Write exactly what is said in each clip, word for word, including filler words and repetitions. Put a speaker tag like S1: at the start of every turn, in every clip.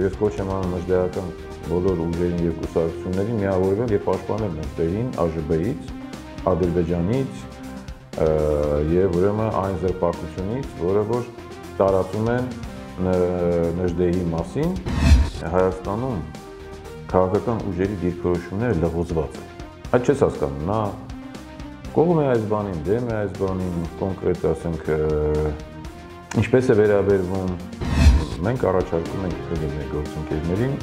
S1: Եվ ես կոչ եմ անում մեջբերական բոլոր ուժերին եւ կուսակցություններին միավորվել եւ պաշտպանել նստերին ԱԺԲ-ից, Ադրբեջանից եւ ուրեմն այն զրպարտությունից, որը որ տարածում են Նժդեհի մասին, Հայաստանում քաղաքական ուժերի դիրքորոշումները լղոզված են։ Այդ չես հասկանում, նա կողմ է այս բանին, դեմ է այս բանին, կոնկրետ ասենք ինչպես է վերաբերվում, մենք առաջարկում ենք մեր գործընկերներին,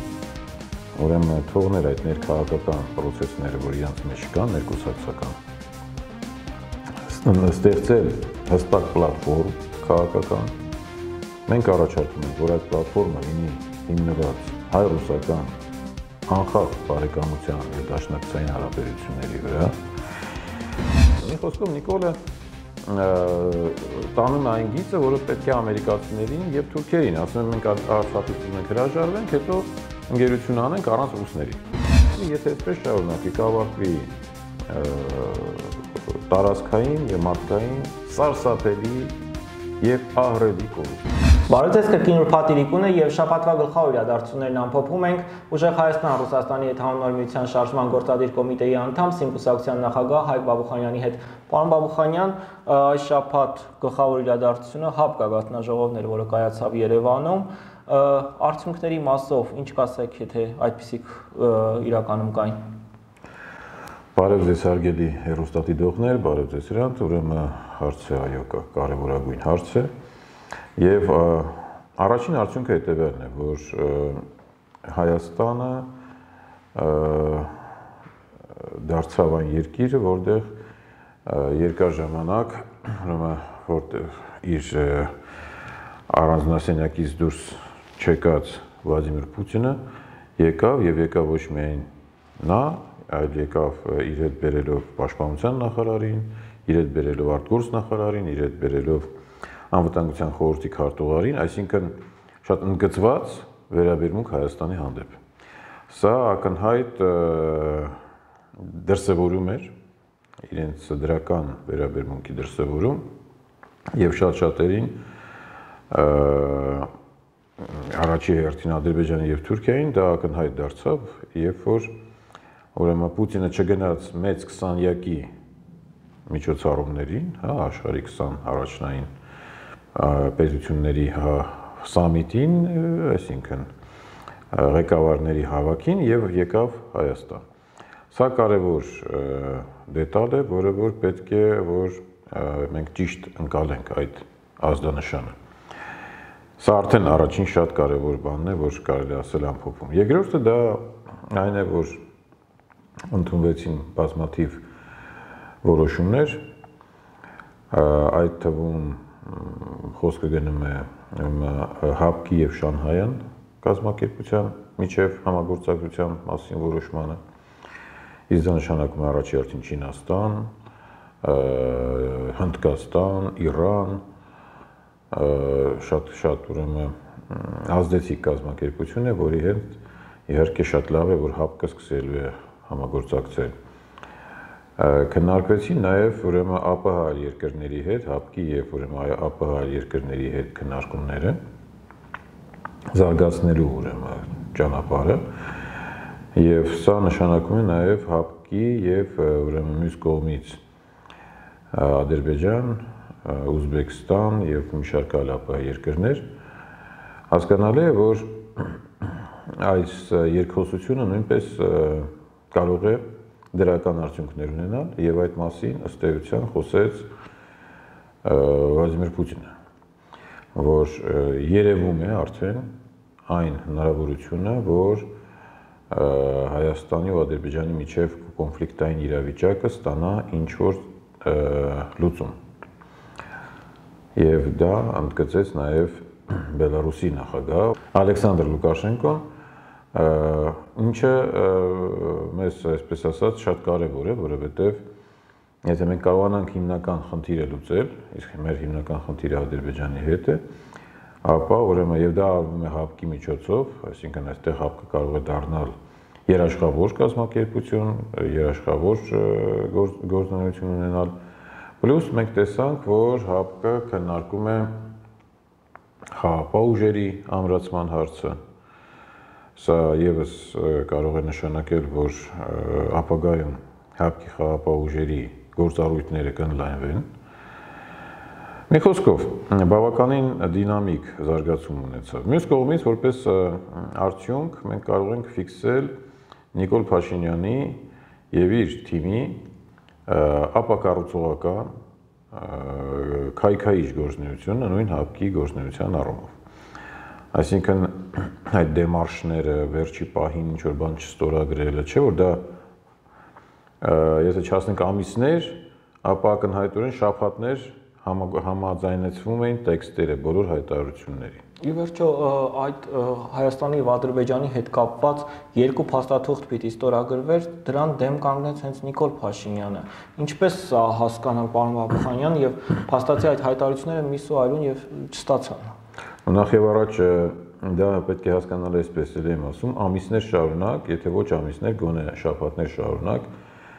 S1: ուրեմն թողնել այդ ներքաղաքական պրոցեսները, որ իրենց մեջ կան, ներկուսակցական, ստեղծել հստակ պլատֆորմ քաղաքական, մենք առաջարկում ենք, որ այդ պլատֆորմը լինի հիմնված հայ-ռուսական անխախտ բարեկամության եւ դաշնակցային հարաբերությունների վրա։ Մի խոսքով Նիկոլը տանում է այն գիծը, որը պետք է ամերիկացիներին եւ թուրքերին, ասում են մենք Արցախից մենք հրաժարվենք, հետո ընկերություն անենք առանց ռուսների։ Եթե այսպես շարունակի, կավարտվի տարածքային եւ մարդկային սարսափելի եւ ահռելի կորուստներ։
S2: Բարոյ կրկին ուրբաթ իրիկուն է եւ շաբաթվա գլխավոր իրադարձություններն ամփոփում ենք ուժեղ Հայաստան Ռուսաստանի հետ հանուն միության շարժման գործադիր կոմիտեի անդամ Սիմկուսակցության նախագահ Հայկ Բաբուխանյանի հետ։ Պարոն Բաբուխանյան, այս շաբաթ գլխավոր իրադարձությունը ՀԱՊԿ գաղտնաժողովն էր, որը կայացավ Երևանում, արդյունքների մասով ինչ կասեք, եթե այդպիսիք իրականում կային։
S1: Բարև ձեզ հարգելի հեռուստադիտողներ, բարև ձեզ հրանտ, ուրեմն հարցը այո կարևորագույն հարց է։ Եվ առաջին արդյունքը հետևյալն է, որ Հայաստանը դարձավ այն երկիրը, որտեղ երկար ժամանակ, որտեղ իր առանձնասենյակից դուրս չեկած Վլադիմիր Պուտինը եկավ եւ եկավ ոչ միայն նա, այլ եկավ իր հետ բերելով պաշտպանության նախարարին, իր հետ բերելով արտգործ նախարարին, իր հետ բերելով անվտանգության խորհրդի քարտուղարին, այսինքն շատ ընդգծված վերաբերմունք Հայաստանի հանդեպ։ Սա ակնհայտ դրսևորում էր իրենց դրական վերաբերմունքի դրսևորում եւ շատ շատերին առաջի հերթին Ադրբեջանը եւ Թուրքիային դա ակնհայտ դարձավ, երբ որ ուրեմն Պուտինը չգնաց մեծ քսանյակի միջոցառումներին, հա, աշխարհի քսան առաջնային պետությունների սամիտին, այսինքն ղեկավարների հավաքին եւ եկավ Հայաստան։ Սա կարևոր դետալ է, որը որ պետք է որ մենք ճիշտ ընկալենք այդ ազդանշանը։ Սա արդեն առաջին շատ կարևոր բանն է, որ կարելի ասել ամփոփում։ Երկրորդը դա այն է, որ ընդունվեցին բազմաթիվ որոշումներ, այդ թվում խոսքը գնում է ՀԱՊԿ-ի եւ Շանհայյան կազմակերպության միջև համագործակցության մասին որոշմանը։ Իսկ դա նշանակում է առաջի հերթին Չինաստան, Հնդկաստան, Իրան, շատ շատ ուրեմն ազդեցիկ կազմակերպություն է, որի հետ իհարկե շատ լավ է, որ ՀԱՊԿ-ը սկսելու է համագործակցել։ Քննարկվեցին նաև ուրեմն ԱՊՀ երկրների հետ, ՀԱՊԿ-ի եւ ուրեմն ԱՊՀ երկրների հետ քննարկումները զարգացնելու ուրեմն ճանապարհը եւ սա նշանակում է նաև ՀԱՊԿ-ի եւ ուրեմն մյուս կողմից Ադրբեջան, Ուզբեկստան եւ մի շարք այլ ԱՊՀ երկրներ հասկանալի է, որ այս երկխոսությունը նույնպես կարող է դրական արդյունքներ ունենալ եւ այդ մասին ըստ էության խոսեց Վլադիմիր Պուտինը, որ երևում է արդեն այն հնարավորությունը, որ Հայաստանի ու Ադրբեջանի միջև կոնֆլիկտային իրավիճակը ստանա ինչ-որ լուծում։ Եվ դա ընդգծեց նաև Բելարուսի նախագահ Ալեքսանդր Լուկաշենկոն, ինչը մեզ, այսպես ասած, շատ կարևոր է, որովհետև եթե մենք կարողանանք հիմնական խնդիրը լուծել, իսկ մեր հիմնական խնդիրը Ադրբեջանի հետ է, ապա ուրեմն եւ դա արվում է ՀԱՊԿ-ի միջոցով, այսինքն այստեղ ՀԱՊԿ-ը կարող է դառնալ երաշխավոր կազմակերպություն, երաշխավոր գործունեություն ունենալ, պլյուս մենք տեսանք, որ ՀԱՊԿ-ը քննարկում է խաղաղապահ ուժերի ամրացման հարցը, Սա եւս կարող է նշանակել, որ ապագայում հապկի խաղապահ ուժերի գործառույթները կընդլայնվեն։ Մի խոսքով, բավականին դինամիկ զարգացում ունեցավ։ Մյուս կողմից, որպես արդյունք, մենք կարող ենք ֆիքսել Նիկոլ Փաշինյանի եւ իր թիմի ապակառուցողական քայքայիչ գործունեությունը նույն հապկի գործունեության առումով։ Այսինքն այդ դեմարշները վերջի պահին ինչ որ բան չստորագրելը, չէ՞ որ դա եթե չասենք ամիսներ, ապա ակնհայտորեն շաբաթներ համաձայնեցվում էին տեքստերը բոլոր հայտարարությունների։
S2: Ի վերջո այդ Հայաստանի եւ Ադրբեջանի հետ կապված երկու փաստաթուղթ պիտի ստորագրվեր, դրան դեմ կանգնեց հենց Նիկոլ Փաշինյանը։ Ինչպես հասկանալ պարոն Բաբուխանյան եւ փաստացի այդ հայտարարությունները միս ու այլուն եւ չստացան։
S1: Նախ եւ առաջ դա պետք է հասկանալ այսպես, էլ եմ ասում, ամիսներ շարունակ, եթե ոչ ամիսներ, գոնե շաբաթներ շարունակ,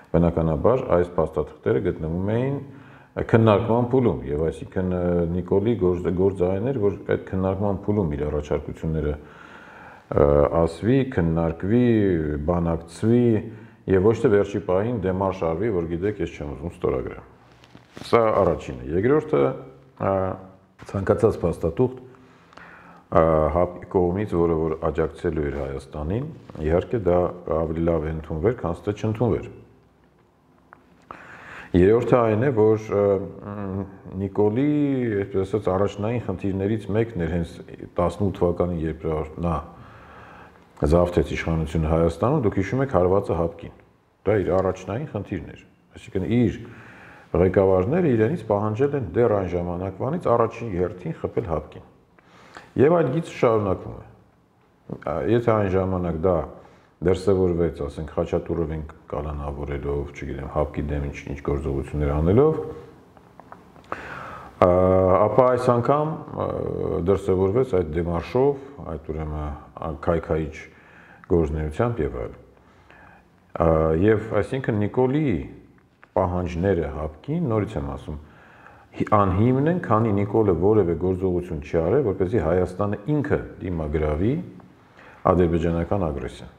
S1: բնականաբար այս փաստաթղթերը գտնվում էին քննարկման փուլում եւ այսինքն Նիկոլի գործարան էր, որ այդ քննարկման փուլում իր առաջարկությունները ասվի, քննարկվի, բանակցվի եւ ոչ թե վերջի պահին դեմարշ արվի, որ գիտեք, ես չեմ ուզում ստորագրեմ։ Սա առաջինը։ Երկրորդը ցանկացած փաստաթուղթ հապկի կողմից, որը որ աջակցելու էր Հայաստանին, իհարկե դա ավելի լավ է ընդունվեր, քան թե չընդունվեր։ Երրորդը այն է, որ Նիկոլի, այսպես ասած, առաջնային խնդիրներից մեկն էր հենց տասնութ թվականին, երբ նա զավթեց իշխանությունը Հայաստանում, դուք հիշում եք հարվածը հապկին։ Դա իր առաջնային խնդիրն էր։ Այսինքն իր ղեկավարները իրենից պահանջել են դեռ այն ժամանակվանից առաջին հերթին խփել հապկին։ Եվ այդ գիծը շարունակվում է։ Եթե այն ժամանակ դա դրսևորվեց, ասենք, Խաչատուրովին կալանավորելով, չգիտեմ, հապկի դեմ ինչ գործողություններ անելով, ապա այս անգամ դրսևորվեց այդ դեմարշով, այդ ուրեմն քայքայիչ գործունեությամբ եւ այլն։ Եվ այսինքն Նիկոլի պահանջները հապկին, նորից եմ ասում, անհիմն են, քանի Նիկոլը որևէ գործողություն չի արել, որպեսզի Հայաստանը ինքը դիմագրավի ադրբեջանական ագրեսիան։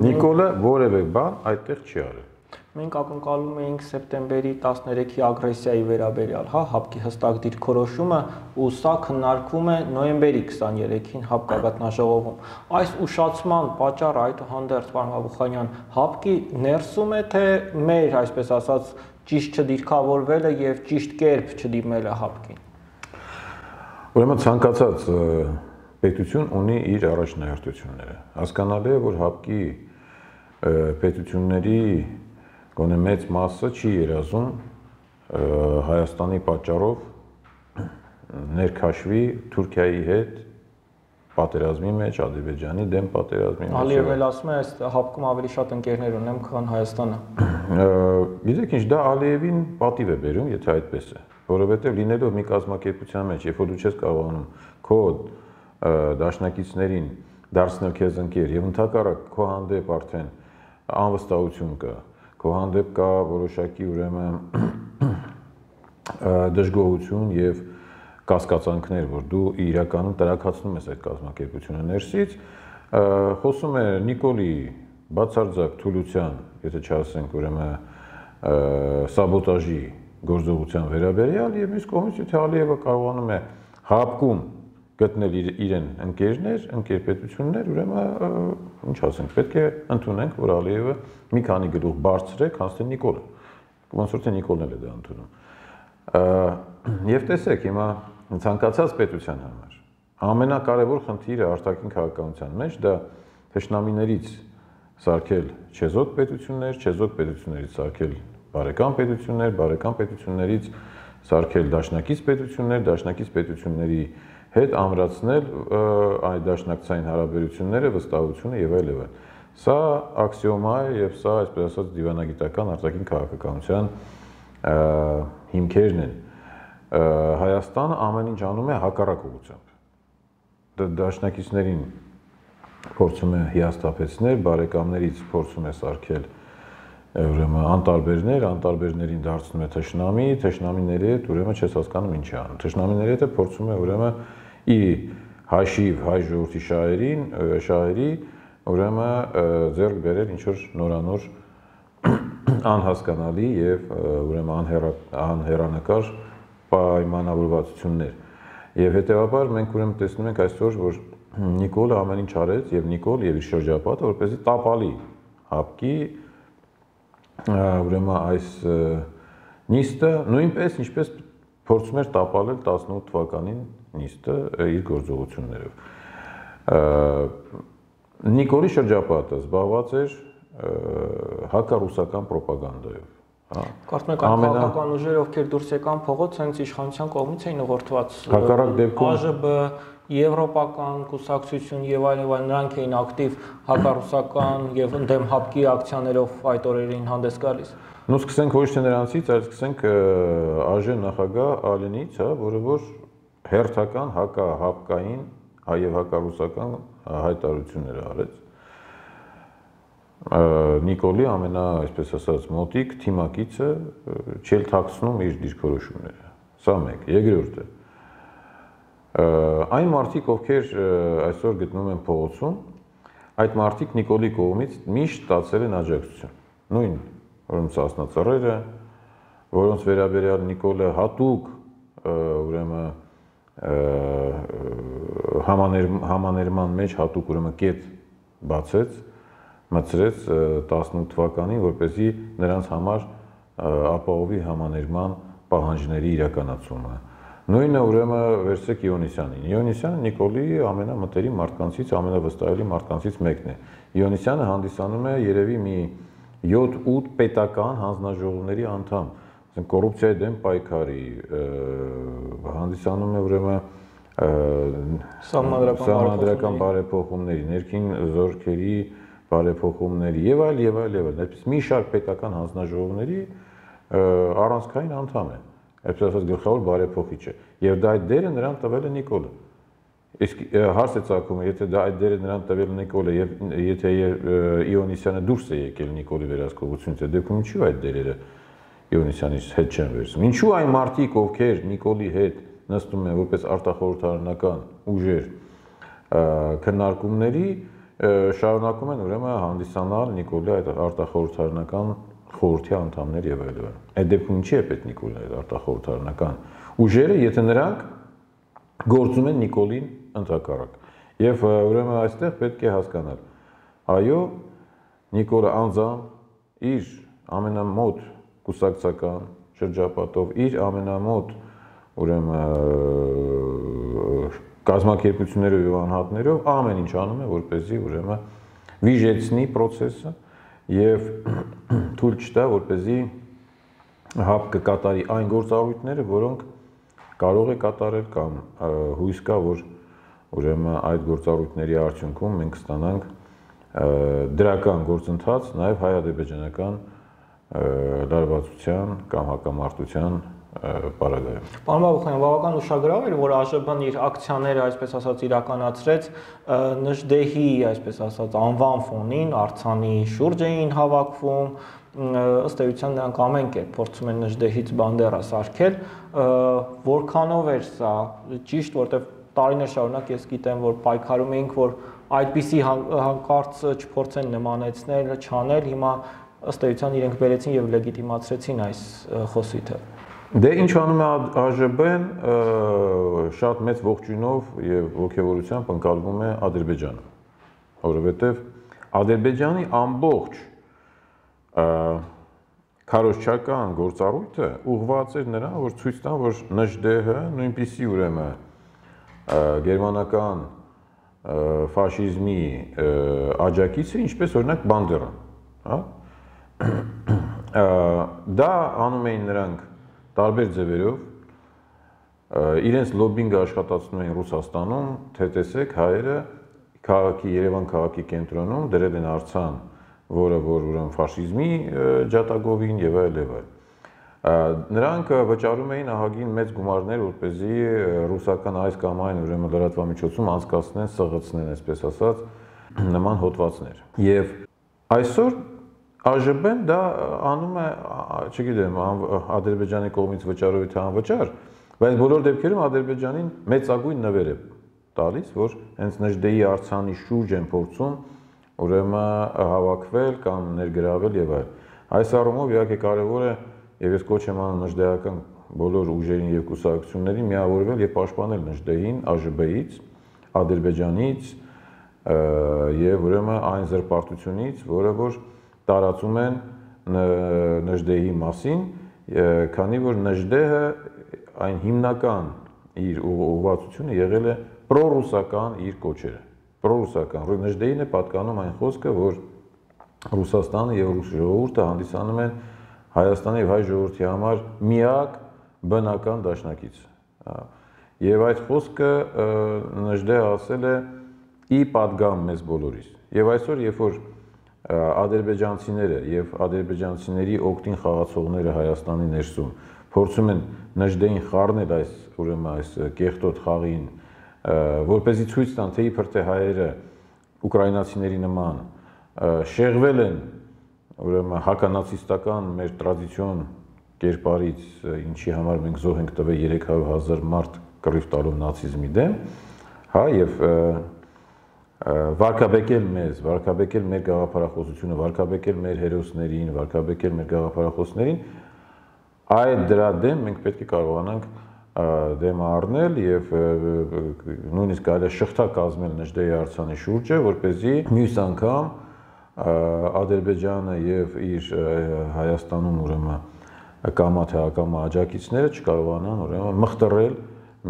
S1: Նիկոլը որևէ բան այդտեղ չի արել։
S2: Մենք ակնկալում էինք սեպտեմբերի տասներեքի ագրեսիայի վերաբերյալ, հա, հապկի հստակ դիրքորոշումը, ու սա քննարկվում է նոյեմբերի քսաներեքին հապկ գագաթնաժողովում։ Այս ուշացման պատճառը այդուհանդերձ, պարոն Բաբուխանյան, հապկի ներսում է, թե մեր, այսպես ասած, ճիշտ չդիրքավորվելը եւ ճիշտ կերպ չդիմելը հապկին։
S1: Ուրեմն ցանկացած պետություն ունի իր առաջնահերթությունները։ Հասկանալի է, որ հապկի պետությունների գոնե մեծ մասը չի երազում Հայաստանի պատճառով ներքաշվի Թուրքիայի հետ պատերազմի մեջ, Ադրբեջանի դեմ պատերազմի մեջ։
S2: Ալիևն ասում է, այս հապկում ավելի շատ ընկերներ ունեմ, քան Հայաստանը։
S1: Գիտեք ինչ, դա Ալիևին պատիվ է բերում, եթե այդպես է, որովհետև լինելով մի կազմակերպության մեջ, երբ որ դու չես կարողանում քո դաշնակիցներին դարձնել քեզ ընկեր եւ ընդհակառակ քո հանդեպ արդեն անվստահություն կա, քո հանդեպ կա որոշակի ուրեմն դժգոհություն եւ կասկածանքներ, որ դու իրականում տրակացնում ես այդ կազմակերպությունը ներսից, խոսում է Նիկոլի բացարձակ թուլության, եթե չասենք ուրեմն սաբոտաժի գործողության վերաբերյալ եւ մյուս կողմից եթե Ալիևը կարողանում է հապկում գտնել իրեն ընկերներ, ընկերպետություններ, ուրեմն ինչ ասենք, պետք է ընդունենք, որ Ալիևը մի քանի գլուխ բարձր է, քան թե Նիկոլը։ Ոնց որ թե Նիկոլն էլ է դա ընդունում։ Եվ տեսեք, հիմա ցանկացած պետության համար ամենակարևոր խնդիրը արտաքին քաղաքականության մեջ դա թշնամիներից սարքել չեզոք պետություններ, չեզոք պետություններից սարքել բարեկամ պետություններ, բարեկամ պետություններից սարքել դաշնակից պետություններ, դաշնակից պետությունների հետ ամրացնել այդ դաշնակցային հարաբերությունները, վստահությունը եւ այլ եւ այլ։ Սա աքսիոմա է եւ սա, այսպես ասած, դիվանագիտական արտաքին քաղաքականության հիմքերն են։ Հայաստանը ամեն ինչ անում է հակառակ ուղղությամբ։ Դաշնակիցներին փորձում է հիասթափեցնել, բարեկամներից փորձում է սարքել ուրեմն անտարբերներ, անտարբերներին դարձնում է թշնամի, թշնամիների հետ ուրեմն չես հասկանում ինչ է անում։ Թշնամիների հետ փորձում է ուրեմն ի հաշիվ հայ ժողովրդի շահերին, շահերի, ուրեմն ձեռք բերել ինչ որ նորանոր անհասկանալի եւ ուրեմն անհեռանկար պայմանավորվածություններ։ Եվ հետեւաբար մենք ուրեմն տեսնում ենք այսօր, որ Նիկոլը ամեն ինչ արեց եւ Նիկոլ եւ իր շրջապատը որպեսզի տապալի հապկի ուրեմն այս նիստը նույնպես ինչպես փորձում էր տապալել տասնութ թվականին նիստը իր գործողություններով։ Նիկոլի շրջապատը զբաղված էր հակառուսական ռոպագանդայով։
S2: Կարծում եք այն քաղաքական ուժերը, ովքեր դուրս եկան փողոց, հենց իշխանության կողմից էին ուղղորդված։
S1: Հակառակ դեպքում
S2: ԱԺԲ, Եվրոպական կուսակցություն եւ այլն եւ այլն նրանք էին ակտիվ հակառուսական եւ ընդդեմ հապկի ակցիաներով այդ օրերին հանդես գալիս։
S1: Նու սկսենք ոչ թե նրանցից, այլ սկսենք ԱԺ նախագահ Ալենից, հա, որը որ հերթական հակահապկային եւ հակառուսական հայտարարություններ արեց։ Նիկոլի ամենա, այսպես ասած, մոտիկ թիմակիցը չել թաքցնում իր դիրքորոշումները։ Սա մեկ, երկրորդը։ Այն մարդիկ, ովքեր այսօր գտնվում են փողոցում, այդ մարդիկ Նիկոլի կողմից միշտ ստացել են աջակցություն։ Նույն ուրեմն սասնածռերը, որոնց վերաբերյալ Նիկոլը հատուկ ուրեմն համաներման մեջ հատուկ ուրեմն կետ բացեց, մտցրեց տասնութ թվականին, որպեսզի նրանց համար ապահովի համաներման պահանջների իրականացումը։ Նույնը ուրեմն վերցրեք Իոնիսյանին։ Իոնիսյանը Նիկոլի ամենամտերիմ մարդկանցից, ամենավստահելի մարդկանցից մեկն է։ Իոնիսյանը հանդիսանում է երևի մի յոթ-ութ պետական հանձնաժողովների անդամ, կոռուպցիայի դեմ պայքարի, հանդիսանում է ուրեմն սահմանադրական բարեփոխումների, ներքին զորքերի բարեփոխումների եւ այլ եւ այլ եւ այլ, այսպես մի շարք պետական հանձնաժողովների առանցքային անդամ է, այսպես ասած գլխավոր բարեփոխիչը, եւ դա այդ դերը նրան տվել է Նիկոլը։ Իսկ հարց է ծագում, եթե դա այդ դերը նրան տվել է Նիկոլը եւ եթե Իոնիսյանը դուրս է եկել Նիկոլի վերահսկողությունից, դեպքում ինչու այդ դերերը Իոնիսյանից հետ չեն վերցնում։ Ինչու այն մարդիկ, ովքեր Նիկոլի հետ նստում են որպես արտախորհրդարանական ուժեր քննարկումների, շարունակում են ուրեմն հանդիսանալ Նիկոլի այդ արտախորհրդարանական խորհրդի անդամներ եւ այլն։ Այդ դեպքում ինչի է պետք Նիկոլի այդ արտախորհրդարանական ուժերը, եթե նրանք գործում են Նիկոլին ընդհակառակ։ Եվ ուրեմն այստեղ պետք է հասկանալ, այո, Նիկոլը անձամբ իր ամենամոտ կուսակցական շրջապատով, իր ամենամոտ ուրեմն կազմակերպություններով եւ անհատներով ամեն ինչ անում է, որպեսզի ուրեմն վիժեցնի process-ը եւ թույլ չտա, որպեսզի հապկը կատարի այն գործառույթները, որոնք կարող է կատարել կամ հույս կա, որ ուրեմն այդ գործառույթների արդյունքում մենք ստանանք դրական գործընթաց նաեւ հայ-ադրբեջանական լարվածության կամ հակամարտության պարագայում։
S2: Պարոն Բաբուխյան, բավական ուշագրավ էր, որ ԱԺԲ-ն իր ակցիաները, այսպես ասած, իրականացրեց Նժդեհի, այսպես ասած, անվան ֆոնին, արձանի շուրջ էին հավաքվում, ըստ էության նրանք ամեն կերպ փորձում են Նժդեհից բանդերա սարքել, որքանով էր սա ճիշտ, որտեղ տարիներ շարունակ ես գիտեմ, որ պայքարում էինք, որ այդպիսի հանկարծ չփորձեն նմանեցնել, չանել, հիմա ըստ էության իրենք բերեցին եւ լեգիտիմացրեցին այս խոսիթը։
S1: Դե ինչ անում է ԱԺԲ-ն, շատ մեծ ողջույնով եւ ողջավորությամբ ընկալվում է Ադրբեջանը, որովհետեւ Ադրբեջանի ամբողջ քարոզչական գործառույթը ուղղված էր նրան, որ ցույց տան, որ Նժդեհը նույնպիսի ուրեմն գերմանական ֆաշիզմի աջակիցը, ինչպես օրինակ Բանդերան, հա։ Դա անում էին նրանք տարբեր ձևերով, իրենց լոբինգը աշխատացնում էին Ռուսաստանում, թե տեսեք հայերը քաղաքի Երևան քաղաքի կենտրոնում դրել են արձան, որը որ ուրեմն ֆաշիզմի ջատագովին եւ այլ եւ այլ։ Նրանք վճարում էին ահագին մեծ գումարներ, որպեսզի ռուսական այս կամ այն ուրեմն լրատվամիջոցում անցկացնեն, սղացնեն, այսպես ասած, նման հոդվածներ։ Եվ այսօր ԱԺԲ-ն դա անում է, չգիտեմ, Ադրբեջանի կողմից վճարովի թե անվճար, բայց բոլոր դեպքերում Ադրբեջանին մեծագույն նվեր է տալիս, որ հենց Նժդեի արձանի շուրջ են փորձում ուրեմն հավաքվել կամ ներգրավել եւ այլ։ Այս առումով իհարկե կարեւոր է եւ ես կոչ եմ անում նժդեական բոլոր ուժերին եւ կուսակցություններին միավորվել եւ պաշտպանել Նժդեին ԱԺԲ-ից, Ադրբեջանից եւ ուրեմն այն զրպարտությունից, որը որ տարածում են Նժդեի մասին, քանի որ Նժդեը այն հիմնական իր ուղղվածությունը եղել է պրոռուսական իր կոչերը, պրոռուսական։ Նժդեին է պատկանում այն խոսքը, որ Ռուսաստանը եւ ռուս ժողովուրդը հանդիսանում են Հայաստանի եւ հայ ժողովրդի համար միակ բնական դաշնակիցը։ Եվ այդ խոսքը Նժդեը ասել է ի պատգամ մեզ բոլորիս։ Եվ այսօր, երբ որ ադրբեջանցիները եւ ադրբեջանցիների օգտին խաղացողները Հայաստանի ներսում փորձում են Նժդեին խառնել այս ուրեմն այս կեղտոտ խաղին, որպեսզի ցույց տան, թե իբր թե հայերը ուկրաինացիների նման շեղվել են ուրեմն հականացիստական մեր տրադիցիոն կերպարից, ինչի համար մենք զոհ ենք տվել երեք հարյուր հազար մարդ կռիվ տալով նացիզմի դեմ, հա, եւ վարկաբեկել մեզ, վարկաբեկել մեր գաղափարախոսությունը, վարկաբեկել մեր հերոսներին, վարկաբեկել մեր գաղափարախոսներին, այդ դրա դեմ մենք պետք է կարողանանք դեմ առնել եւ նույնիսկ կարելի է շղթա կազմել Նժդեի արձանի շուրջը, որպեսզի մյուս անգամ Ադրբեջանը եւ իր Հայաստանում ուրեմն կամա թե ակամա աջակիցները չկարողանան ուրեմն մխտռել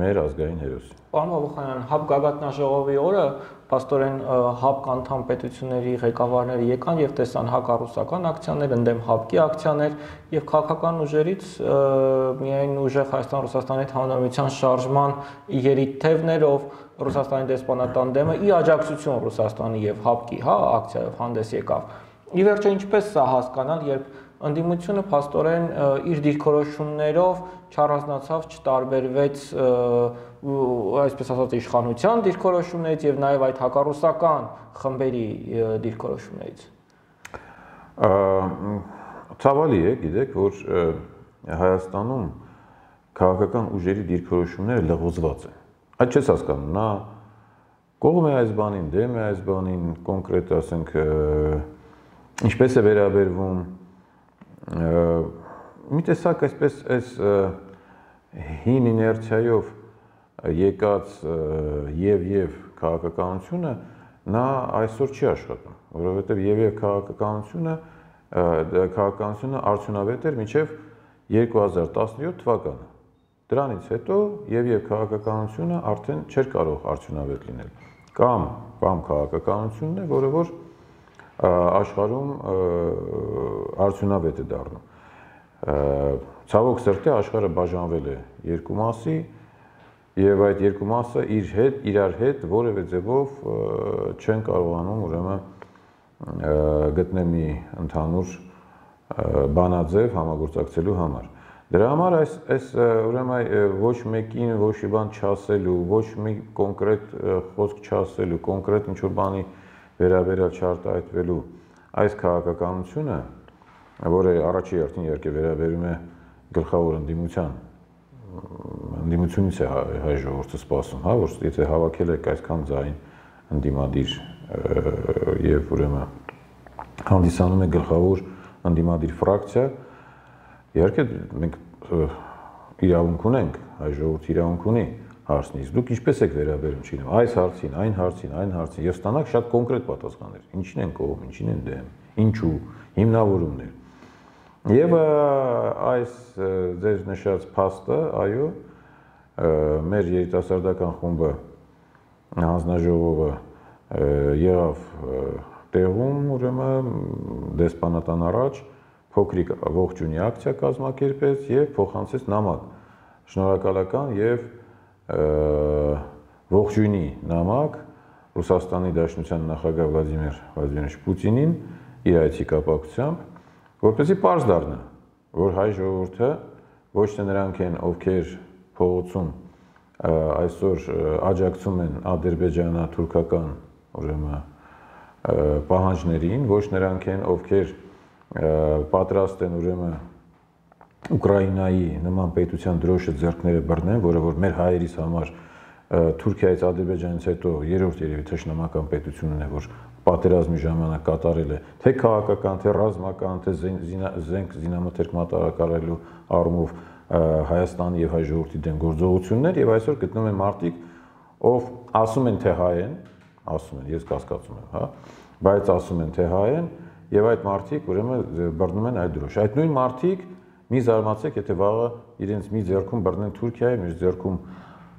S1: մեր ազգային հերոսին։
S2: Պարոն Բաբուխանյան, ՀԱՊ գագաթնաժողովի օրը փաստորեն ՀԱՊ անդամ պետությունների ղեկավարները եկան եւ տեսան հակառուսական ակցիաներ, ընդդեմ ՀԱՊԿ-ի ակցիաներ եւ քաղաքական ուժերից միայն ուժեղ Հայաստան-Ռուսաստանի համանդրության շարժման երիտթևներով Ռուսաստանի դեսպանատան դեմը ի աջակցություն Ռուսաստանի եւ ՀԱՊԿ-ի, հա, ակցիայով հանդես եկավ։ Ի վերջո ինչպես սա հասկանալ, երբ ընդդիմությունը փաստորեն իր դիրքորոշումներով չառանձնացավ, չտարբերվեց այսպես ասած իշխանության դիրքորոշումներից եւ նաեւ այդ հակառուսական խմբերի դիրքորոշումներից։
S1: Ցավալի է, գիտեք, որ Հայաստանում քաղաքական ուժերի դիրքորոշումները լղոզված են։ Այդ չես հասկանում, նա կողմ է այս բանին, դեմ է այս բանին, կոնկրետ ասենք ինչպես է վերաբերվում մի տեսակ այսպես այս հին իներցիայով եկած եւ եւ քաղաքականությունը նա այսօր չի աշխատում, որովհետեւ եւ եւ քաղաքականությունը քաղաքականությունը արդյունավետ էր մինչեւ երկու հազար տասնյոթ թվականը։ Դրանից հետո եւ եւ քաղաքականությունը արդեն չէր կարող արդյունավետ լինել։ Կամ կամ քաղաքականությունն է, որը որ աշխարհում արդյունավետ է դառնում։ Ցավոք սրտի աշխարհը բաժանվել է երկու մասի եւ այդ երկու մասը իր հետ իրար հետ որևէ ձևով չեն կարողանում ուրեմն գտնել մի ընդհանուր բանաձև համագործակցելու համար։ Դրա համար այս այս ուրեմն ոչ մեկին ոչ մի բան չասելու, ոչ մի կոնկրետ խոսք չասելու, կոնկրետ ինչ-որ բանի վերաբերյալ չարտահայտվելու այս քաղաքականությունը, որը առաջի հերթին իհարկե վերաբերում է գլխավոր ընդդիմության, ընդդիմությունից է հայ ժողովուրդը սպասում, հա, որ եթե հավաքել եք այսքան ձայն ընդդիմադիր եւ ուրեմն հանդիսանում է գլխավոր ընդդիմադիր ֆրակցիա, իհարկե մենք իրավունք ունենք, հայ ժողովուրդը իրավունք ունի հարցնից, դուք ինչպես եք վերաբերում չինեմ, այս հարցին, այն հարցին, այն հարցին, եւ ստանաք շատ կոնկրետ պատասխաններ, ինչին են կողմ, ինչին են դեմ, ինչու, հիմնավորումներ։ Եվ այս ձեր նշած փաստը, այո, մեր երիտասարդական խումբը հանձնաժողովը եղավ տեղում, ուրեմն դեսպանատան առաջ փոքրիկ ողջունի ակցիա կազմակերպեց եւ փոխանցեց նամակ, շնորհակալական եւ ողջույնի նամակ Ռուսաստանի Դաշնության նախագահ Վլադիմիր Վլադիմիրովիչ Պուտինին իր այցի կապակցությամբ, որպեսզի պարզ դառնա, որ հայ ժողովուրդը ոչ թե նրանք են, ովքեր փողոցում այսօր աջակցում են ադրբեջանա-թուրքական ուրեմն պահանջներին, ոչ նրանք են, ովքեր պատրաստ են ուրեմն Ուկրաինայի նման պետության դրոշը ձեռքները բռնեն, որը որ մեր հայերիս համար Թուրքիայից, Ադրբեջանից հետո երրորդ երևի թշնամական պետությունն է, որ պատերազմի ժամանակ կատարել է թե քաղաքական, թե ռազմական, թե զենք զինամթերք մատակարարելու առումով Հայաստանի եւ հայ ժողովրդի դեմ գործողություններ եւ այսօր գտնում են մարդիկ, ով ասում են թե հայ են, ասում են, ես կասկածում եմ, հա, բայց ասում են թե հայ են եւ այդ մարդիկ ուրեմն բռնում են այդ դրոշ։ Այդ նույն մարդիկ մի զարմացեք, եթե վաղը իրենց մի ձեռքում բռնեն Թուրքիայի, մի ձեռքում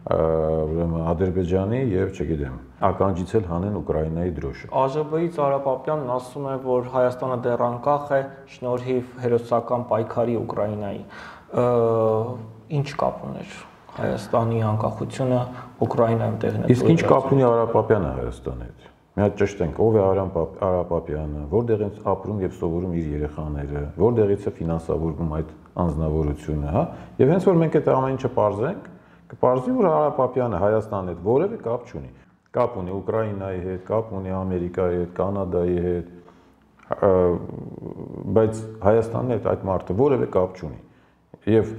S1: ուրեմն Ադրբեջանի եւ չգիտեմ, ականջից էլ հանեն Ուկրաինայի դրոշը։
S2: ԱԺԲ-ից Արա Պապյանն ասում է, որ Հայաստանը դեռ անկախ է շնորհիվ հերոսական պայքարի Ուկրաինայի։ Ինչ կապ ուներ Հայաստանի անկախությունը Ուկրաինայում տեղի ունեցած։
S1: Իսկ ինչ կապ ունի Արա Պապյանը Հայաստանի հետ։ Մի հատ ճշտենք, ով է Արա Պապյանը, որտեղ են ապրում եւ սովորում իր երեխաները, որտեղից է ֆինանսավորվում այդ անձնավորությունը, հա։ Եվ հենց որ մենք այդ ամեն ինչը պարզենք, կպարզվի, որ Արա Պապյանը Հայաստանի հետ որևէ կապ չունի։ Կապ ունի Ուկրաինայի հետ, կապ ունի Ամերիկայի հետ, Կանադայի հետ, բայց Հայաստանի հետ այդ մարդը որևէ կապ չունի։ Եվ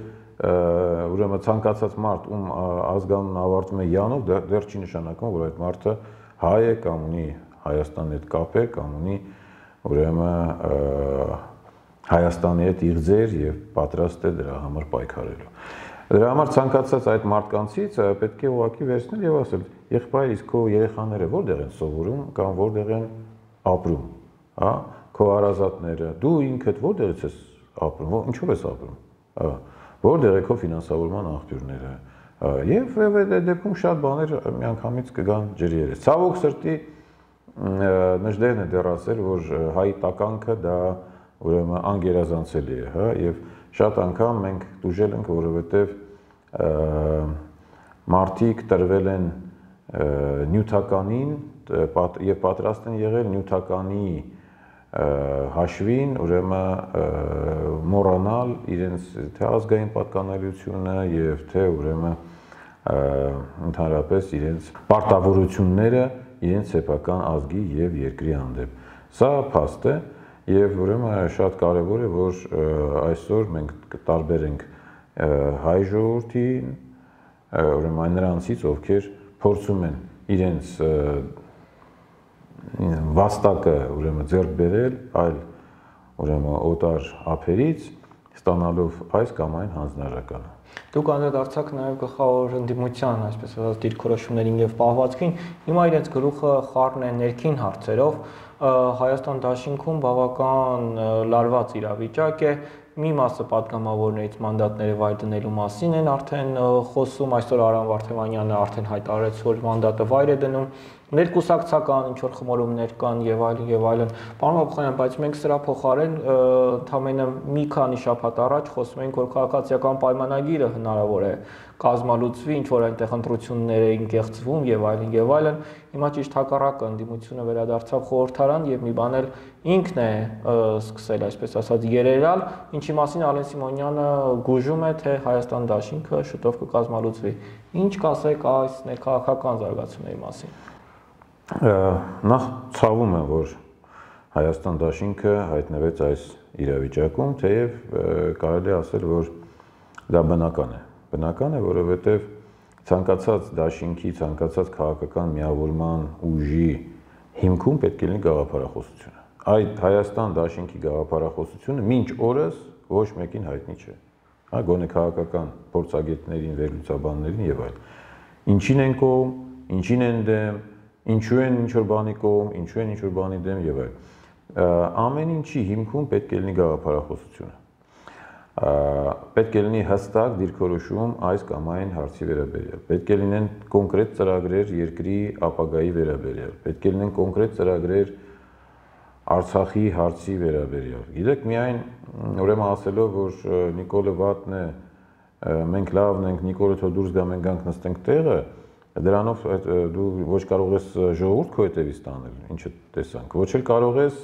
S1: ուրեմն ցանկացած մարդ, ում ազգանունը ավարտվում է յանով, դեռ չի նշանակում, որ այդ մարդը հայ է կամ ունի Հայաստանի հետ կապ է, կամ ունի ուրեմն Հայաստանի հետ իղձեր եւ պատրաստ է դրա համար պայքարելու։ Դրա համար ցանկացած այդ մարդկանցից պետք է ուղղակի վերցնել եւ ասել. «Եղբայր, իսկ քո երեխաները որտեղ են սովորում կամ որտեղ են ապրում, հա, քո հարազատները, դու ինքդ որտեղից ես ապրում, ինչով ես ապրում, հա, որտեղ է քո ֆինանսավորման աղբյուրները»։ Եվ այդ դեպքում շատ բաներ միանգամից կգան ջրի երես։ Ցավոք սրտի Նժդեհն է դեռ ասել, որ հայի տականքը դա ուրեմն անգերազանցելի է, հա, եւ շատ անգամ մենք դուժել ենք, որովհետեւ մարդիկ տրվել են նյութականին եւ պատրաստ են եղել նյութականի հաշվին, ուրեմն մոռանալ իրենց թե ազգային պատկանելիությունը եւ թե ուրեմն ընդհանրապես իրենց պարտավորությունները իրենց սեփական ազգի եւ երկրի հանդեպ։ Սա փաստ է եւ ուրեմն շատ կարեւոր է, որ այսօր մենք կտարբերենք հայ ժողովրդին, ուրեմն նրանցից, ովքեր փորձում են իրենց վաստակը ուրեմն ձեռք բերել այլ ուրեմն օտար ափերից, ստանալով այս կամ այն հանձնարարականը։
S2: Դուք անդրադարձաք նաև գլխավոր ընդդիմության, այսպես ասած, դիրքորոշումներին եւ պահվածքին, հիմա իրենց գլուխը խառն է ներքին հարցերով, Հայաստան դաշինքում բավական լարված իրավիճակ է, մի մասը պատգամավորներից մանդատները վայր դնելու մասին են արդեն խոսում, այսօր Արամ Վարդևանյանը արդեն հայտարարեց, որ մանդատը վայր է դնում, ներկուսակցական ինչ որ խմորումներ կան եւ այլն եւ այլն։ Պարոն Բաբուխանյան, բայց մենք սրա փոխարեն ընդամենը մի քանի շաբաթ առաջ խոսում ենք, որ քաղաքացիական պայմանագիրը հնարավոր է կազմալուծվի, ինչ որ այնտեղ ընտրություններ էին կեղծվում եւ այլն եւ այլն։ Հիմա ճիշտ հակառակը ընդդիմությունը վերադարձավ խորհրդարան եւ մի բան էլ ինքն է սկսել, այսպես ասած, երերալ, ինչի մասին Ալեն Սիմոնյանը գուժում է, թե Հայաստան դաշինքը շուտով կկազմալուծվի։ Ինչ կասեք այս ներքաղաքական զարգացումների մասին։
S1: Նախ ցավում եմ, որ Հայաստան դաշինքը հայտնվեց այս իրավիճակում, թեև կարելի է ասել, որ դա բնական է։ Բնական է, որովհետև ցանկացած դաշինքի, ցանկացած քաղաքական միավորման ուժի հիմքում պետք է լինի գաղափարախոսությունը։ Այդ Հայաստան դաշինքի գաղափարախոսությունը մինչ օրս ոչ մեկին հայտնի չէ։ Հա, գոնե քաղաքական փորձագետներին, վերլուծաբաններին եւ այլն։ Ինչին են կողմ, ինչին են դեմ, ինչու են ինչ որ բանի կողմ, ինչու են ինչ որ բանի դեմ եւ այլն։ Ամեն ինչի հիմքում պետք է լինի գաղափարախոսությունը։ Պետք է լինի հստակ դիրքորոշում այս կամ այն հարցի վերաբերյալ։ Պետք է լինեն կոնկրետ ծրագրեր երկրի ապագայի վերաբերյալ։ Պետք է լինեն կոնկրետ ծրագրեր Արցախի հարցի վերաբերյալ։ Գիտեք, միայն ուրեմն ասելով, որ Նիկոլը վատն է, մենք լավն ենք, Նիկոլը թող դուրս գա, մենք գանք նստենք տեղը, դրանով դու ոչ կարող ես ժողովուրդ քո հետևից տանել, ինչը տեսանք, ոչ էլ կարող ես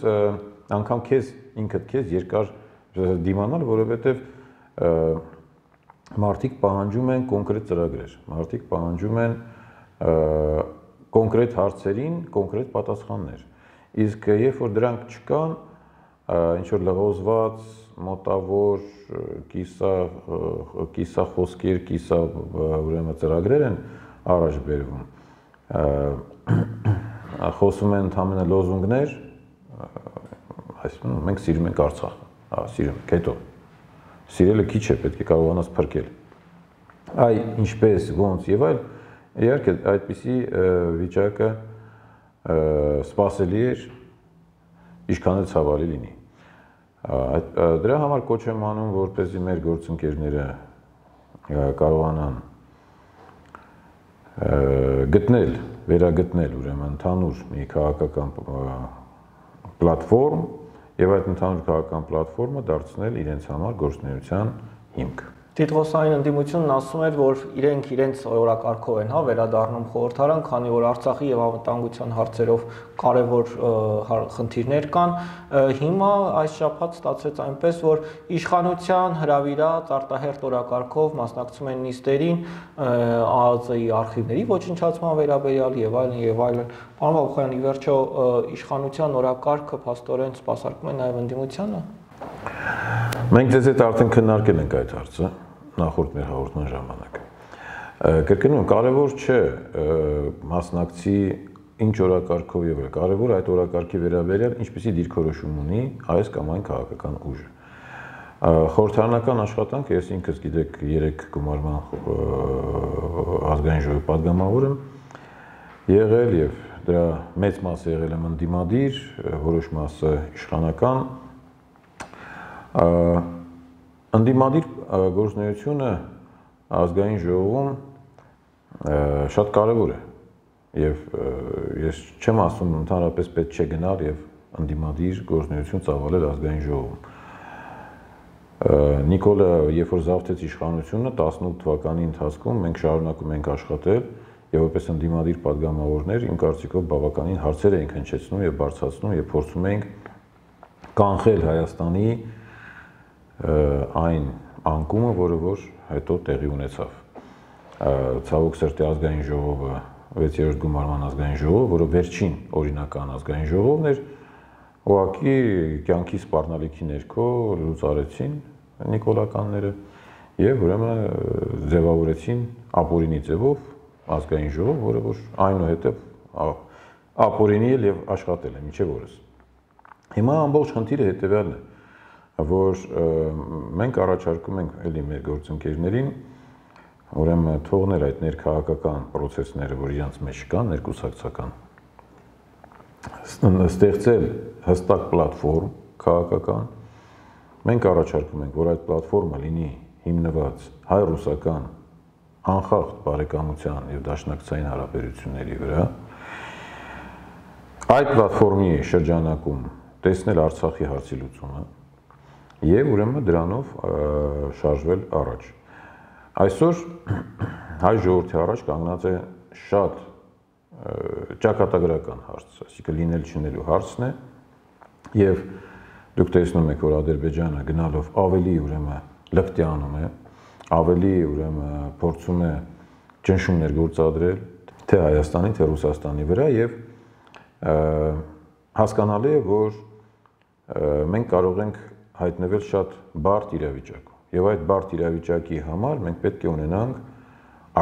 S1: անգամ քեզ ինքդ քեզ երկար դիմանալ, որովհետև մարդիկ պահանջում են կոնկրետ ծրագրեր, մարդիկ պահանջում են կոնկրետ հարցերին կոնկրետ պատասխաններ։ Իսկ երբ որ դրանք չկան, ինչ որ լղոզված, մոտավոր, կիսա կիսա խոսքեր, կիսա ուրեմն ծրագրեր են, առաջ բերվում։ Խոսում են ընդամենը լոզունգներ, այսինքն մենք սիրում ենք Արցախը, հա, սիրում ենք, հետո սիրելը քիչ է, պետք է կարողանաս փրկել։ Այ ինչպես, ոնց եւ այլ, իհարկե այդպիսի վիճակը սպասելի էր, ինչքան էլ ցավալի լինի։ Դրա համար կոչ եմ անում, որպեսզի մեր գործընկերները կարողանան գտնել, վերագտնել ուրեմն ընդհանուր մի քաղաքական պլատֆորմ եւ այդ ընդհանուր քաղաքական պլատֆորմը դարձնել իրենց համար գործունեության հիմք։
S2: Տիտղոսային ընդդիմությունն ասում էր, որ իրենք իրենց օրակարգով են, հա, վերադառնում խորհրդարան, քանի որ Արցախի եւ անվտանգության հարցերով կարևոր խնդիրներ կան։ Հիմա այս շաբաթ ստացվեց այնպես, որ իշխանության հրավիրած արտահերթ օրակարգով մասնակցում են նիստերին, ԱԱԾ-ի արխիվների ոչնչացման վերաբերյալ եւ այլն եւ այլն։ Պարոն Բաբուխյան, ի վերջո իշխանության օրակարգը փաստորեն սպասարկում է նաեւ ընդդիմությանը։
S1: Մենք ձեզ հետ արդեն քննարկել ենք այդ հարցը նախորդ մեր հաղորդման ժամանակ։ Կրկնում եմ, կարևոր չէ մասնակցի ինչ օրակարգով եւ այլ, կարևոր այդ օրակարգի վերաբերյալ ինչպիսի դիրքորոշում ունի այս կամ այն քաղաքական ուժը։ Խորհրդարանական աշխատանք, ես ինքս գիտեք երեք գումարման ազգային ժողովի падգամավոր եմ եղել եւ դրա մեծ մասը եղել եմ ընդդիմադիր, որոշ մասը իշխանական։ Ընդդիմադիր գործունեությունը ազգային ժողովում շատ կարևոր է եւ ես չեմ ասում ընդհանրապես պետք չէ գնալ եւ ընդդիմադիր գործունեություն ծավալել ազգային ժողովում։ Նիկոլը երբ որ զավթեց իշխանությունը տասնութ թվականի ընթացքում մենք շարունակում ենք աշխատել եւ որպես ընդդիմադիր падգամավորներ իմ կարծիքով բավականին հարցեր էինք հնչեցնում եւ բարձրացնում եւ փորձում էինք կանխել Հայաստանի այն անկումը, որը որ հետո տեղի ունեցավ։ Ցավոք սրտի ազգային ժողովը, վեցերորդ գումարման ազգային ժողովը, որը վերջին օրինական ազգային ժողովն էր, ուղղակի կյանքի սպառնալիքի ներքո լուծ արեցին նիկոլականները եւ ուրեմն ձևավորեցին ապօրինի ձևով ազգային ժողով, որը որ այնուհետև ապօրինի էլ եւ աշխատել է մինչեւ օրս։ Հիմա ամբողջ խնդիրը հետեւյալն է, որ մենք առաջարկում ենք էլի մեր գործընկերներին ուրեմն թողնել այդ ներքաղաքական process-ները, որ իրենց մեջ կան, ներկուսակցական, ստեղծել հստակ պլատֆորմ քաղաքական։ Մենք առաջարկում ենք, որ այդ պլատֆորմը լինի հիմնված հայ-ռուսական անխախտ բարեկամության եւ դաշնակցային հարաբերությունների վրա։ Այդ պլատֆորմի շրջանակում տեսնել Արցախի հարցի լուծումը եւ ուրեմն դրանով շարժվել առաջ։ Այսօր հայ ժողովրդի առաջ կանգնած է շատ ճակատագրական հարց, այսինքն լինել չնելու հարցն է եւ դուք տեսնում եք, որ Ադրբեջանը գնալով ավելի ուրեմն լկտիանում է, ավելի ուրեմն փորձում է ճնշումներ գործադրել թե Հայաստանի, թե Ռուսաստանի վրա եւ հասկանալի է, որ մենք կարող ենք հայտնվել շատ բարդ իրավիճակում եւ այդ բարդ իրավիճակի համար մենք պետք է ունենանք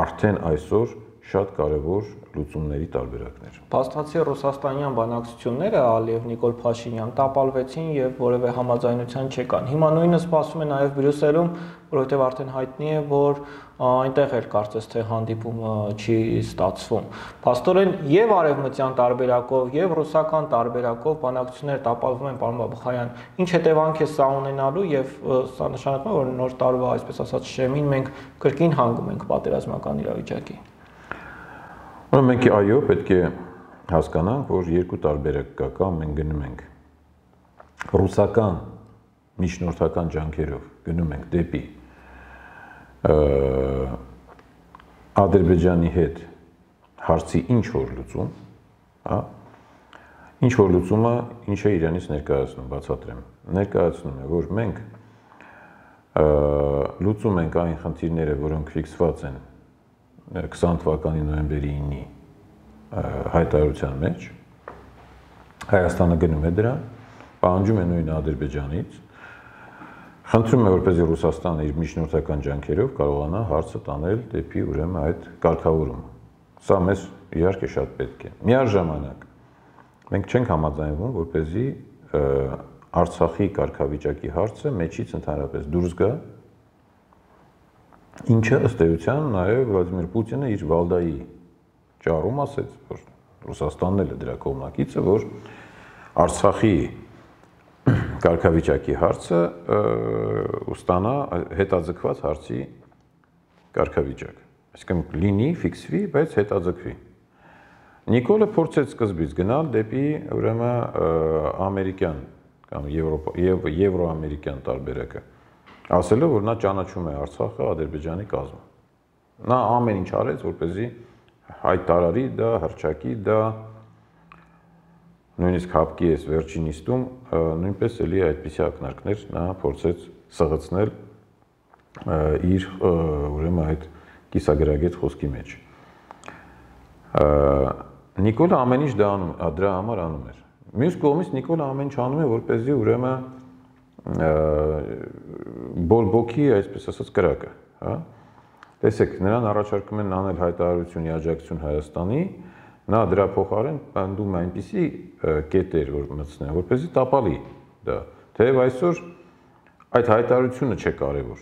S1: արդեն այսօր շատ կարևոր լուծումների տարբերակներ։
S2: Փաստացի ռուսաստանյան բանակցությունները Ալիև Նիկոլ Փաշինյան տապալվեցին եւ որևէ համաձայնության չեկան։ Հիմա նույնը սպասվում է նաեւ Բրյուսելում, որովհետեւ արդեն հայտնի է, որ այնտեղ էլ կարծես թե հանդիպումը չի ստացվում։ Փաստորեն եւ արևմտյան տարբերակով եւ ռուսական տարբերակով բանակցությունները տապալվում են, պարոն Բաբուխյան։ Ինչ հետևանք է սա ունենալու եւ սա նշանակում է, որ նոր տարվա, այսպես ասած, շեմին մենք կրկին հանգում ենք պատերազմական իրավիճակի։
S1: Ուրեմն մենք այո, պետք է հասկանանք, որ երկու տարբերակ կա, կամ մենք գնում ենք ռուսական միջնորդական ջանքերով գնում ենք դեպի Ադրբեջանի հետ հարցի ինչ որ լուծում, հա, ինչ որ լուծումը ինչ է իրանից ներկայացնում, բացատրեմ։ Ներկայացնում է, որ մենք լուծում ենք այն խնդիրները, որոնք ֆիքսված են քսան թվականի նոյեմբերի ինի հայտարարության մեջ, Հայաստանը գնում է դրան, պահանջում է նույնը Ադրբեջանից, խնդրում է, որպեսզի Ռուսաստանը իր միջնորդական ջանքերով կարողանա հարցը տանել դեպի ուրեմն այդ կարգավորումը։ Սա մեզ իհարկե շատ պետք է։ Միաժամանակ մենք չենք համաձայնվում, որպեսզի Արցախի կարգավիճակի հարցը մեջից ընդհանրապես դուրս գա, ինչը ըստ էության նաև Վլադիմիր Պուտինը իր Վալդայի ճառում ասեց, որ Ռուսաստանն էլ է դրա կողմնակիցը, որ Արցախի կարգավիճակի հարցը ստանա հետաձգված հարցի կարգավիճակ։ Այսինքն լինի, ֆիքսվի, բայց հետաձգվի։ Նիկոլը փորձեց սկզբից գնալ դեպի ուրեմն ամերիկյան կամ եվրոամերիկյան տարբերակը, ասելով, որ նա ճանաչում է Արցախը Ադրբեջանի կազմում։ Նա ամեն ինչ արեց, որպեսզի հայտարարի դա, հռչակի դա, նույնիսկ հապկի էս վերջին նիստում նույնպես էլի այդպիսի ակնարկներ նա փորձեց սղացնել իր ուրեմն այդ կիսագրագետ խոսքի մեջ։ Նիկոլը ամեն ինչ դրա համար անում էր։ Մյուս կողմից Նիկոլը ամեն ինչ անում է, որպեսզի ուրեմն բորբոքի, այսպես ասած, կրակը, հա։ Տեսեք, նրան առաջարկում են անել հայտարարություն աջակցություն Հայաստանի, նա դրա փոխարեն պնդում է այնպիսի կետեր, որ մտցնեն, որպեսզի տապալի դա։ Թեև այսօր այդ հայտարարությունը չէ կարևոր։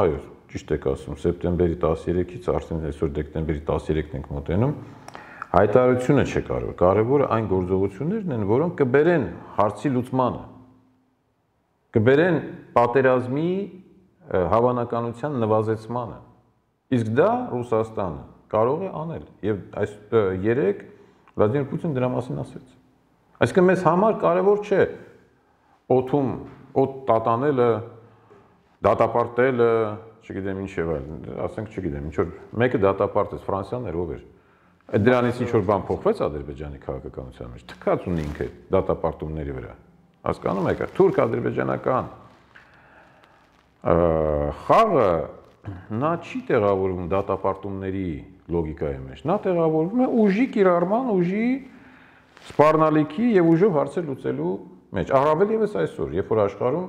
S1: Այո, ճիշտ եք ասում, սեպտեմբերի տասներեքից արդեն այսօր դեկտեմբերի տասներեքն ենք մոտենում, հայտարարությունը չէ կարևոր, կարևորը այն գործողություններն են, որոնք կբերեն հարցի լուծմանը, կբերեն պատերազմի հավանականության նվազեցմանը։ Իսկ դա Ռուսաստանը կարող է անել եւ այս երեք Վլադիմիր Պուտինը դրա մասին ասեց։ Այսինքն մեզ համար կարևոր չէ օդում օդ տատանելը, դատապարտելը, չգիտեմ ինչ եւ այլն, ասենք չգիտեմ, ինչ որ մեկը դատապարտեց, Ֆրանսիան էր, ով էր։ Այդ դրանից ինչ որ բան փոխվեց Ադրբեջանի քաղաքականության մեջ, թքած ունի ինքը դատապարտումների վրա։ Հասկանում եք, թուրք-ադրբեջանական խաղը նա չի տեղավորվում դատապարտումների լոգիկայի մեջ, նա տեղավորվում է ուժի կիրառման, ուժի սպառնալիքի եւ ուժով հարցեր լուծելու մեջ։ Առավել եւս այսօր, երբ որ աշխարհում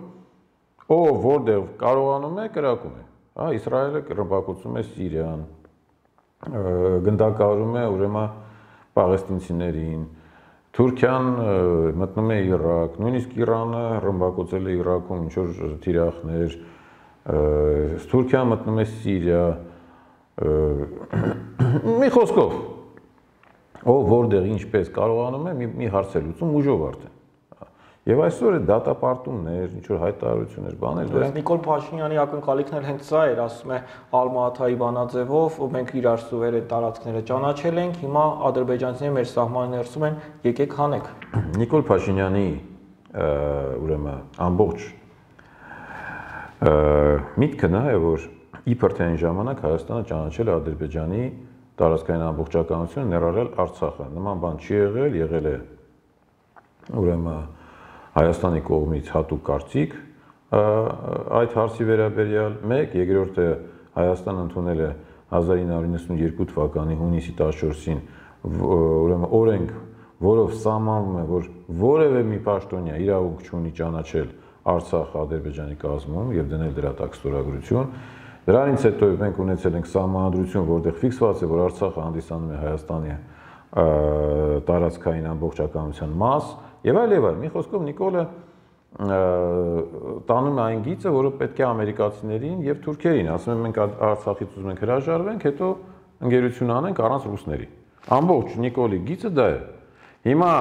S1: ով որտեղ կարողանում է, կրակում է, հա, Իսրայելը ռմբակոծում է Սիրիան, գնդակահարում է ուրեմն պաղեստինցիներին, Թուրքիան մտնում է Իրաք, նույնիսկ Իրանը ռմբակոծել է Իրաքում ինչ որ թիրախներ, Թուրքիան մտնում է Սիրիա, մի խոսքով, ով որտեղ ինչպես կարողանում է մի հարց է լուծում ուժով արդեն։ Եվ այսօր է դատապարտումներ, ինչ որ հայտարարություններ, բաներ,
S2: դրանք Նիկոլ Փաշինյանի ակնկալիքն էլ հենց սա էր, ասում է Ալմա-Աթայի բանաձևով, մենք իրար սուվերեն տարածքները ճանաչել ենք, հիմա ադրբեջանցիները մեր սահմանի ներսում են, եկեք հանեք։
S1: Նիկոլ Փաշինյանի ուրեմն ամբողջ միտքը նա է, որ իբր թե այն ժամանակ Հայաստանը ճանաչել է Ադրբեջանի տարածքային ամբողջականությունը, ներառյալ Արցախը։ Նման բան չի եղել, եղել է ուրեմն Հայաստանի կողմից հատուկ կարծիք այդ հարցի վերաբերյալ, մեկ, երկրորդը Հայաստանը ընդունել է հազար ինը հարյուր նվաթ թվականի հունիսի տասնչորսին ուրեմն օրենք, որով սահմանվում է, որ որևէ մի պաշտոնյա իրավունք չունի ճանաչել Արցախը Ադրբեջանի կազմում եւ դնել դրա տակ ստորագրություն։ Դրանից հետո մենք ունեցել ենք սահմանադրություն, որտեղ ֆիքսված է, որ Արցախը հանդիսանում է Հայաստանի տարածքային ամբողջականության մաս եւ այլ եւ այլ։ Մի խոսքով Նիկոլը տանում է այն գիծը, որը պետք է ամերիկացիներին եւ թուրքերին, ասում են մենք Արցախից ուզում ենք հրաժարվենք, հետո ընկերություն անենք առանց ռուսների։ Ամբողջ Նիկոլի գիծը դա է։ Հիմա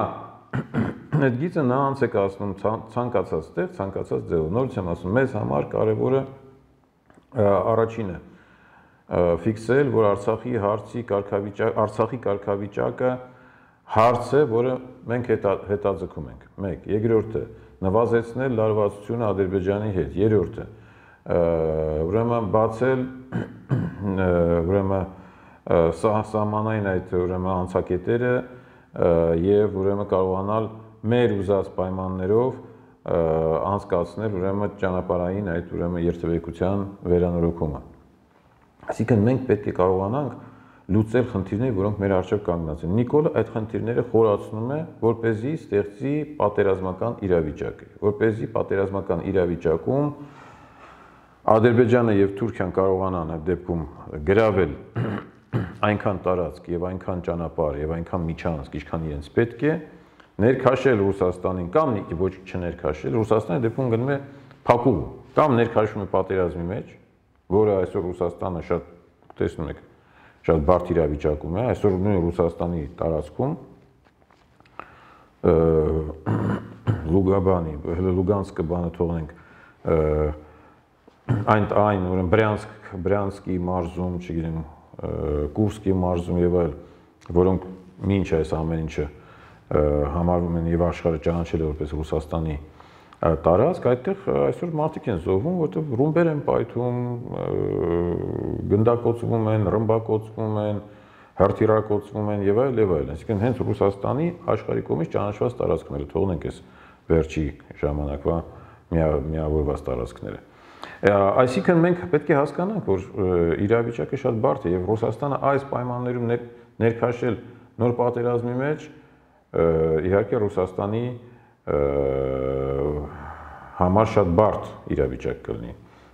S1: այդ գիծը նա անց է կասնում ցանկացած տեղ, ցանկացած ձևով։ Նորից եմ ասում, մեզ համար կարևորը առաջինը ֆիքսել, որ Արցախի հարցի կարգավիճակ, Արցախի կարգավիճակը հարց է, որը մենք հետաձգում ենք։ Մեկ, երկրորդը նվազեցնել լարվածությունը Ադրբեջանի հետ, երրորդը ուրեմն բացել ուրեմն սահմանային այդ ուրեմն անցակետերը եւ ուրեմն կարողանալ մեր ուզած պայմաններով անցկացնել ուրեմն ճանապարհային այդ ուրեմն երթևեկության վերանորոգումը։ Այսինքն մենք պետք է կարողանանք լուծել խնդիրներ, որոնք մեր առջև կանգնած են։ Նիկոլը այդ խնդիրները խորացնում է, որպեսզի ստեղծի պատերազմական իրավիճակ, որպեսզի պատերազմական իրավիճակում Ադրբեջանը եւ Թուրքիան կարողանան այդ դեպքում գրավել այնքան տարածք եւ այնքան ճանապարհ եւ այնքան միջանցք, ինչքան իրենց պետք է, ներքաշել Ռուսաստանին կամ ոչ չներքաշել, Ռուսաստանը դեպքում գնում է փակուղ, կամ ներքաշում է պատերազմի մեջ, որը այսօր Ռուսաստանը շատ տեսնում եք, շատ բարդ իրավիճակում է, այսօր նույն Ռուսաստանի տարածքում Լուգաբանի, Լուգանսկը բանը թողնենք, այն այն ուրեմն Բրյանսկ, Բրյանսկի մարզում, չգիտեմ, Կուրսկի մարզում եւ այլ, որոնք մինչ այս ամեն ինչը համարվում են եւ աշխարհը ճանաչել է որպես Ռուսաստանի տարածք, այդտեղ այսօր մարդիկ են զոհվում, որտեղ ռումբեր են պայթում, գնդակոծվում են, ռմբակոծվում են, հրթիռակոծվում են եւ այլ եւ այլ, այսինքն հենց Ռուսաստանի աշխարհի կողմից ճանաչված տարածքները, թողնենք այս վերջի ժամանակվա միավորված տարածքները։ Այսինքն մենք պետք է հասկանանք, որ իրավիճակը շատ բարդ է եւ Ռուսաստանը այս պայմաններում ներքաշել նոր պատերազմի մեջ իհարկե Ռուսաստանի համար շատ բարդ իրավիճակ կլինի,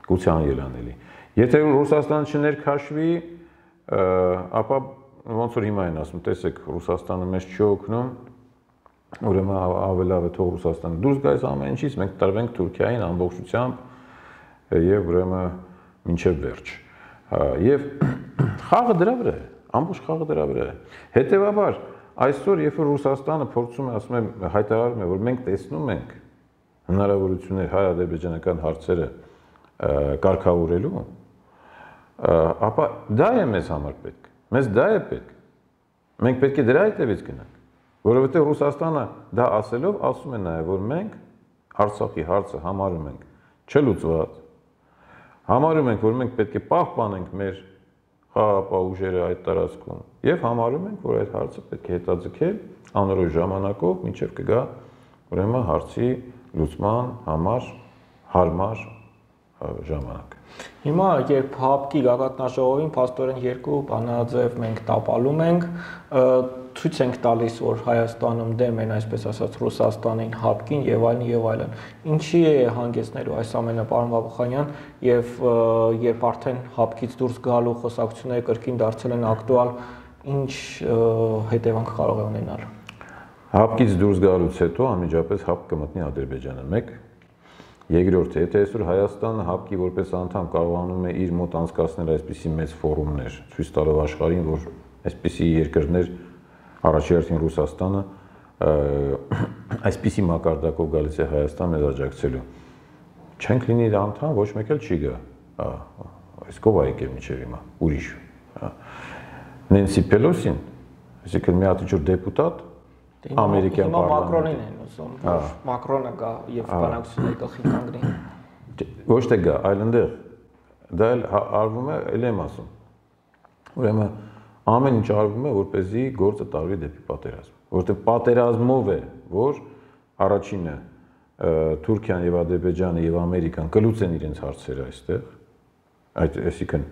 S1: գուցե անելանելի։ Եթե Ռուսաստանը չներքաշվի, ապա ոնց որ հիմա են ասում, տեսեք, Ռուսաստանը մեզ չի օգնում, ուրեմն ավելավ է թող Ռուսաստանը դուրս գա այս ամեն ինչից, մենք տրվենք Թուրքիային ամբողջությամբ եւ ուրեմն մինչեւ վերջ։ Եվ խաղը դրա վրա է, ամբողջ խաղը դրա վրա է։ Հետևաբար այսօր երբ որ Ռուսաստանը փորձում է, ասում է, հայտարարում է, որ մենք տեսնում ենք հնարավորություններ հայ-ադրբեջանական հարցերը կարգավորելու, ապա դա է մեզ համար պետք։ Մեզ դա է պետք։ Մենք պետք է դրա հետևից գնանք, որովհետև Ռուսաստանը դա ասելով ասում է նաև, որ մենք Արցախի հարցը համարում ենք չլուծված, համարում ենք, որ մենք պետք է պահպանենք մեր խաղաղապահ ուժերը այդ տարածքում եւ համարում ենք, որ այդ հարցը պետք է հետաձգել անորոշ ժամանակով, մինչեւ կգա ուրեմն հարցի լուծման համար հարմար ժամանակ։
S2: Հիմա երբ ՀԱՊԿ-ի գագաթնաժողովին փաստորեն երկու բանաձև մենք տապալում ենք, ցույց ենք տալիս, որ Հայաստանում դեմ են, այսպես ասած, Ռուսաստանին, ՀԱՊԿ-ին եւ այլն եւ այլն։ Ինչի է հանգեցնելու այս ամենը, պարոն Բաբուխանյան, եւ երբ արդեն ՀԱՊԿ-ից դուրս գալու խոսակցությունները կրկին դարձել են ակտուալ, ինչ հետևանք կարող է ունենալ։
S1: ՀԱՊԿ-ից դուրս գալուց հետո անմիջապես ՀԱՊԿ կմտնի Ադրբեջանը, մեկ։ Երկրորդ, եթե այսօր Հայաստանը ՀԱՊԿ-ի որպես անդամ կարողանում է իր մոտ անցկացնել այսպիսի մեծ ֆորումներ, ցույց տալով աշխարհին, որ այսպիսի երկրներ առաջի հերթին Ռուսաստանը այսպիսի մակարդակով գալիս է Հայաստան մեզ աջակցելու, չենք լինի անդամ, ոչ մեկ էլ չի գա, այս կով է եկել մինչև հիմա, ուրիշ։ Նենսի Պելոսին, այսինքն մի հատ ինչ-որ դեպուտատ ամերիկյան
S2: պարլամենտի Մակրոնին են ուզում, որ Մակրոնը գա եւ բանակցությունների գլխին կանգնի։
S1: Ոչ թե գա, այլ այնտեղ դա էլ արվում է, ել եմ ասում։ Ուրեմն ամեն ինչ արվում է, որպեսզի գործը տարվի դեպի պատերազմ, որովհետեւ պատերազմով է, որ առաջինը Թուրքիան եւ Ադրբեջանը եւ Ամերիկան կլուծեն իրենց հարցերը այստեղ, այդ այսինքն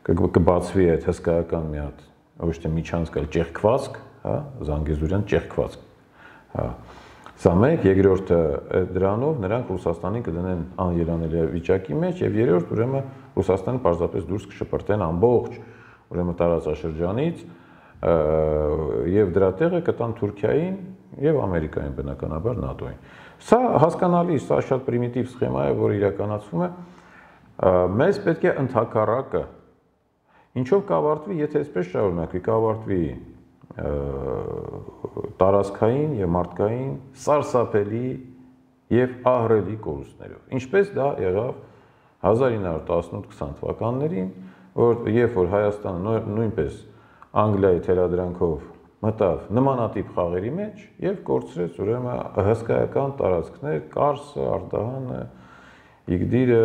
S1: կբացվի այդ հսկայական մի հատ ոչ թե միջանցք, այլ ճեղքվածք, հա, Զանգեզուրյան ճեղքվածք։ Հա։ Սա մեկ, երկրորդը դրանով նրանք Ռուսաստանին կդնեն անելանելի վիճակի մեջ եւ երրորդ ուրեմն Ռուսաստանը պարզապես դուրս կշպրտեն ամբողջ ուրեմն տարածաշրջանից եւ դրա տեղը կտան Թուրքիային եւ Ամերիկային բնականաբար ՆԱՏՕ-ին։ Սա հասկանալի, սա շատ պրիմիտիվ սխեմա է, որը իրականացվում է։ Մեզ պետք է ընդհակառակը ինչով կավարտվի, եթե այսպես շարունակվի, կավարտվի տարածքային եւ մարդկային սարսափելի եւ ահռելի կորուստներով։ Ինչպես դա եղավ հազար ինը հարյուր տասնութ քսան թվականներին, որ երբ որ Հայաստանը նույնպես Անգլիայի թելադրանքով մտավ նմանատիպ խաղերի մեջ եւ կորցրեց ուրեմն հսկայական տարածքներ, Կարսը, Արդահանը, Իգդիրը,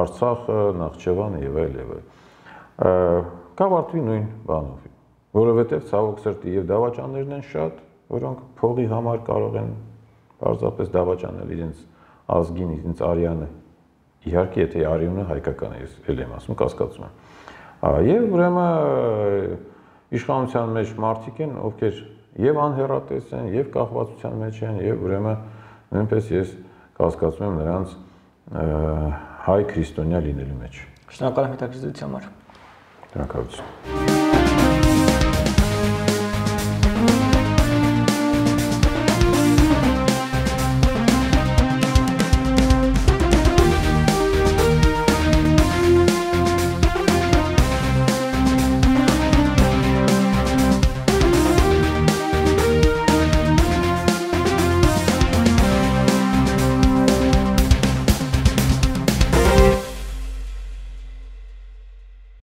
S1: Արցախը, Նախճեվանը եւ այլ եւ այլ։ Կավարտվի նույն բանով, որովհետև ցավոք սրտի եւ դավաճաններն են շատ, որոնք փողի համար կարող են պարզապես դավաճանել իրենց ազգին, իրենց արյանը։ Իհարկե, եթե արյունը հայկական է, ես էլ եմ ասում, կասկածում եմ։ Եվ ուրեմն իշխանության մեջ մարդիկ են, ովքեր եւ անհեռատես են, եւ կախվածության մեջ են, եւ ուրեմն նույնպես ես կասկածում եմ նրանց հայ քրիստոնյա լինելու մեջ։
S2: Շնորհակալ եմ հետաքրքրության համար։
S1: Շնորհակալություն։